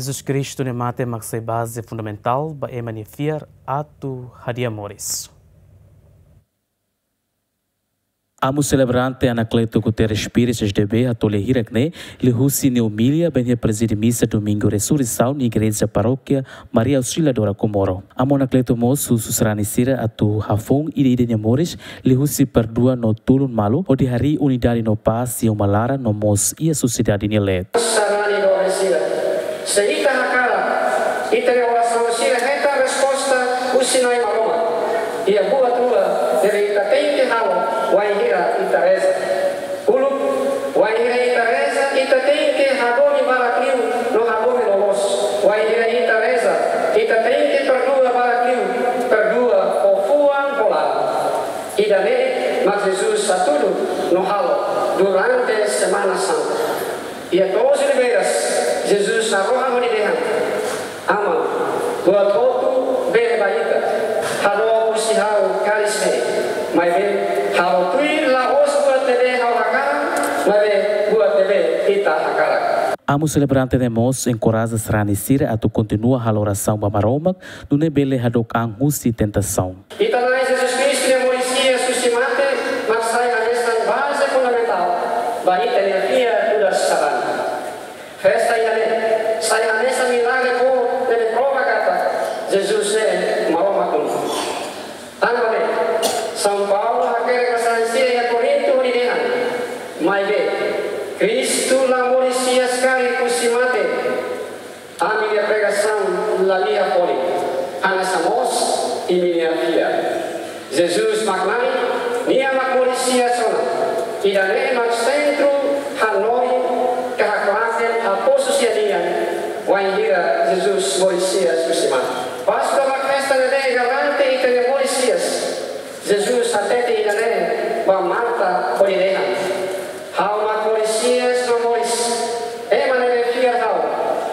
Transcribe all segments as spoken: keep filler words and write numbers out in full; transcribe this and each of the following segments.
Jesus Kristu nia mate mak sai baze fundamentál ba ema nia fiar atu hadi'a moris. Amu selebrante Anacleto Guterres Pires, S D B, hato'o lia hirak-ne'e, liuhusi nia omilia ba nia prezide misa Domingu Resurreisaun iha Igreja Parókia Maria Auxiliadora Comoro. Amu Anacleto mós husu sarani sira atu hafoun ida-idak nia moris, liuhusi perdua no tulun malu, hodi harii unidade no pás iha uma laran no mós iha sosiedade nia leet. Sarani doben sira, se ita hakarak, ita-nia orasaun sira hetan resposta husi Na'i Maromak. Iha buat rua ne'ebé ita tenke halo wainhira ita reza. Uluk, wainhira ita reza, ita tenke hadomi barak liu no hadomi loloos. Wainhira ita reza, ita tenke perdua barak liu, perdua ho fuan ho laran. Ida-ne'e mak Jesus hatudu no halo durante Semana Santa. Iha to'os ribeiras, Jesus harohan hodi dehan: Aman, buat hotu bele ba ita, hadook husi ha'u kalis ne'e. Maibé, ha'u tuir la'ós buat ne'ebé ha'u hakarak, maibé buat ne'ebé ita hakarak. Amu selebrante ne'e mós enkoraja sarani sira atu kontinua halo orasaun ba Maromak, nune'e bele hadook an husi tentasaun. Ita-nia Na'i Jesus Kristu nia moris hi'as husi mate mak sai hanesan baze fundamentál ba ita-nia fiar nu'udar sarani. Festa ida-ne'e sai hanesan milagre boot ne'ebé prova katak Jesus ne'e Maromak Oan. Tanba ne'e, São Paulo hakerek ba sarani sira iha Korintu hodi dehan: Maibé, Kristu la moris hi'as karik husi mate. Ami-nia pregasaun la lia folin, hanesan mós imi-nia fiar. Jesus mak Na'i, Nia mak moris hi'as ona. Ida-ne'e mak sentru hanoin ka haklaken apostu sira-nian wainhira Jesus moris hi'as husi mate. Páskua mak festa ne'ebé garante ita-nia moris hi'as. Jesus hatete ida-ne'e ba Marta hodi dehan: Ha'u mak moris hi'as no moris. Ema ne'ebé fiar ha'u,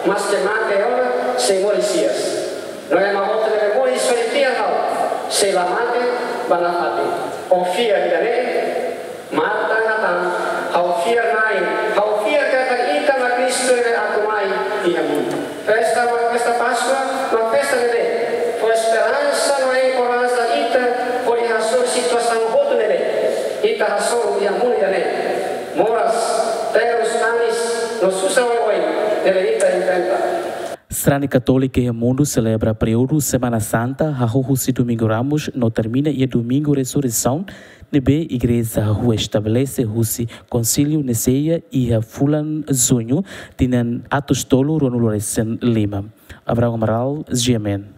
maske mate ona, sei moris hi'as. No ema hotu ne'ebé moris hodi fiar ha'u, sei la mate ba nafatin. Ó fiar ida-ne'e? Marta hatán: Ha'u fiar, Na'i, ha'u fiar katak Ita mak Kristu ne'ebé atu mai iha mundu. Festa mak festa Páskua mak festa ne'ebé fó esperansa no enkoraja ita hodi hasoru situasaun hotu ne'ebé ita hasoru iha mundu ida-ne'e. Moras, terus, tanis no susar oioin ne'ebé ita enfrenta. Sarani Katólika iha mundu selebra períodu Semana Santa, hahú husi Domingu Ramos no termina iha Domingu Resurreisaun, ne'ebé Igreja hahú estabelese husi Konsíliu Niceia iha fulan Juñu, tinan atus tolu ruanulu resin lima. Abraão Amaral, G M N.